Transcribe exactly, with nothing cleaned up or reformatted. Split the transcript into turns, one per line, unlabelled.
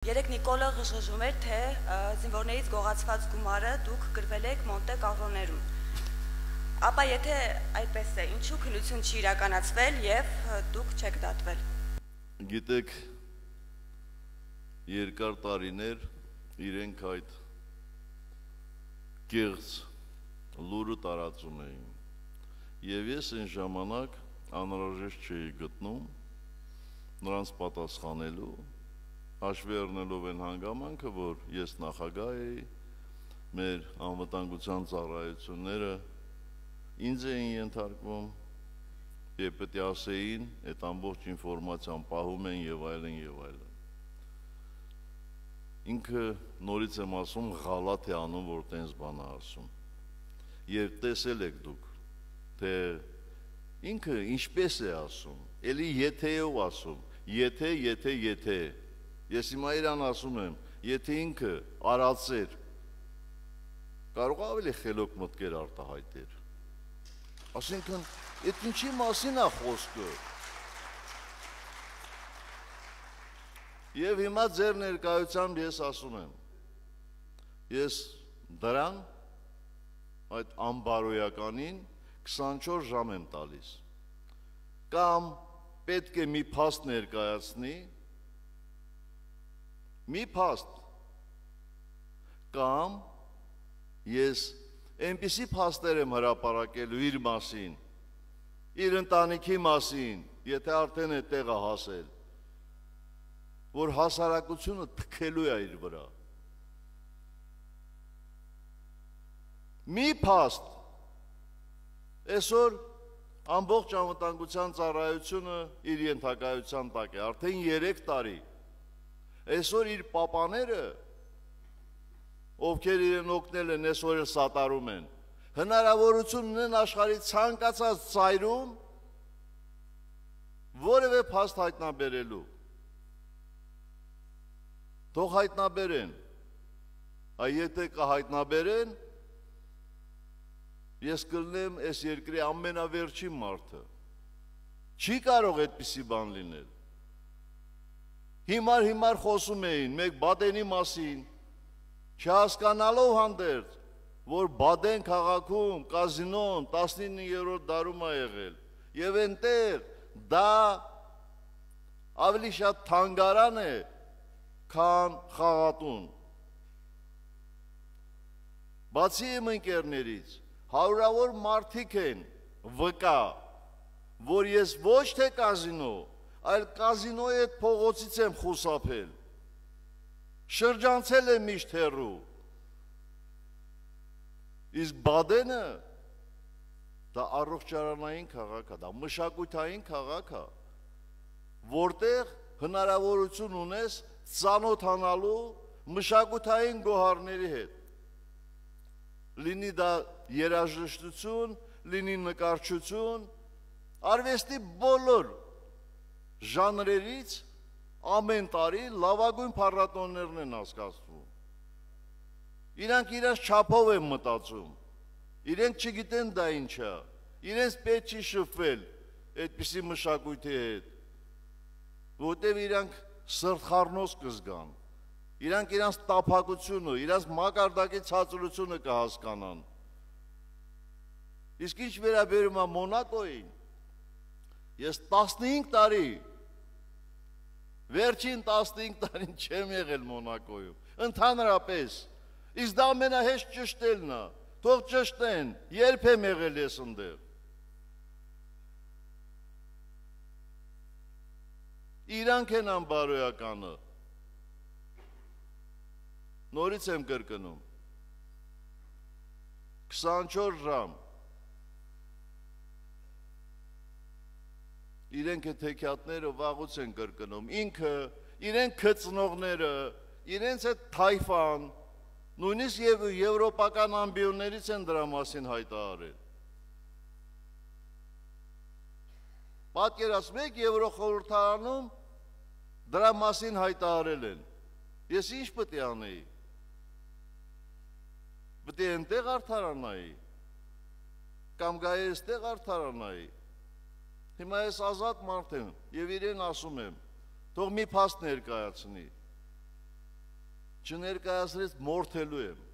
Երեք Նիկոլը ղժղժում էր, թե զինվորներից գողացված գումարը դուք գրվել եք Մոնտե Կառլոներում։ Ապա եթե այդպես է, ինչու քննություն չի իրականացվել եւ դուք չեք դատվել։
Գիտեք, երկար տարիներ իրենք այդ կեղծ լուրը տարածում էին։ Եվ ես այն ժամանակ անհրաժեշտ չէի գտնում նրանց պատասխանելու, հաշվի առնելով այն հանգամանքը, որ ես նախագահ էի, մեր անվտանգության ծառայությունները ինձ էին ենթարկվում եւ պետք է ասեին, այդ ամբողջ ինֆորմացիան պահում են եւ այլն եւ այլն։ Ինքը նորից եմ ասում, ղալաթ է անում, որ տենց բան է ասում։ Եվ տեսել եք դուք, թե ինքը ինչպես է ասում, էլի եթեով ասում, եթե, եթե, եթե։ Ես հիմա իրան ասում եմ, եթե ինքը արածեր, կարող ավելի խելոք մտքեր արտահայտեր։ Այսինքն, այդ ինչի մասին է խոսքը։ Եվ հիմա ձեր ներկայությամբ ես ասում եմ, ես դրան, այդ անբարոյականին քսանչորս ժամ եմ տալիս, կամ պետք է մի փաստ ներկայացնի, մի փաստ, կամ ես այնպիսի փաստեր եմ հրապարակելու իր մասին, իր ընտանիքի մասին, եթե արդեն է տեղը հասել, որ հասարակությունը թքելու է իր վրա։ Մի փաստ, այսօր ամբողջ անվտանգության ծառայությունը իր ենթակայության տակ է, արդեն երեք տարի։ Այսօր իր պապաները, ովքեր իրեն օգնել են, այսօր էլ սատարում են, հնարավորություն ունեն աշխարհի ցանկացած ծայրում որևէ փաստ հայտնաբերելու։ Թող հայտնաբերեն, այ եթե կհայտնաբերեն, ես կլինեմ այս երկրի ամենավերջին մարդը։ Չի կարող այդպիսի բան լինել։ Հիմար-հիմար խոսում էին մեկ Բադենի մասին, չհասկանալով հանդերձ, որ Բադեն քաղաքում կազինոն տասնիններորդ դարում է եղել, եւ այնտեղ դա ավելի շատ թանգարան է, քան խաղատուն։ Բացի իմ ընկերներից, հարյուրավոր մարդիկ են վկա, որ ես ոչ թե կազինո, այլ կազինոյի այդ փողոցից եմ խուսափել, շրջանցել եմ միշտ հեռու։ Իսկ Բադենը դա առողջարանային քաղաք է, դա մշակութային քաղաք է, որտեղ հնարավորություն ունես ծանոթանալու մշակութային գոհարների հետ։ Լինի դա երաժշտություն, լինի նկարչություն, արվեստի բոլոր ժանրերից ամեն տարի լավագույն փառատոներն են անցկացվում։ Իրանք իրենց չափով են մտածում, իրենք չգիտեն դա ինչ է, իրենց պետք չի շփվել այդպիսի մշակույթի հետ, որտեղ իրանք սրտխառնոց կզգան, իրանք իրենց տափակությունը, իրենց մակարդակի ցածրությունը կհասկանան։ Իսկ ինչ վերաբերում է Մոնակոյին, ես տասնհինգ տարի Վերջին տասնհինգ տարին չեմ եղել Մոնակոյում, ընդհանրապես, իսկ դա ամենահեշտ ճշտելն է, թող ճշտեն, երբ եմ եղել ես ընդեղ։ Իրանք են անբարոյականը, նորից եմ կրկնում, քսանչորս ժամ, իրենք է թեքյատները վաղուց են կրկնում, ինքը, իրենք քծնողները, իրենց է թայֆան, նույնիսկ և եվրոպական ամբիոններից են դրա մասին հայտարարել։ Պատկերացնում եք Եվրոխորհրդարանում դրա մասին հայտարարել են։ Ես ինչ պետք է անեի։ Պետք է այնտեղ արդարանայի, կամ գայի այստեղ արդարանայի։ Հիմա ես ազատ մարդ եմ և իրեն ասում եմ, թող մի փաստ ներկայացնի, չներկայացրեց մորթելու եմ։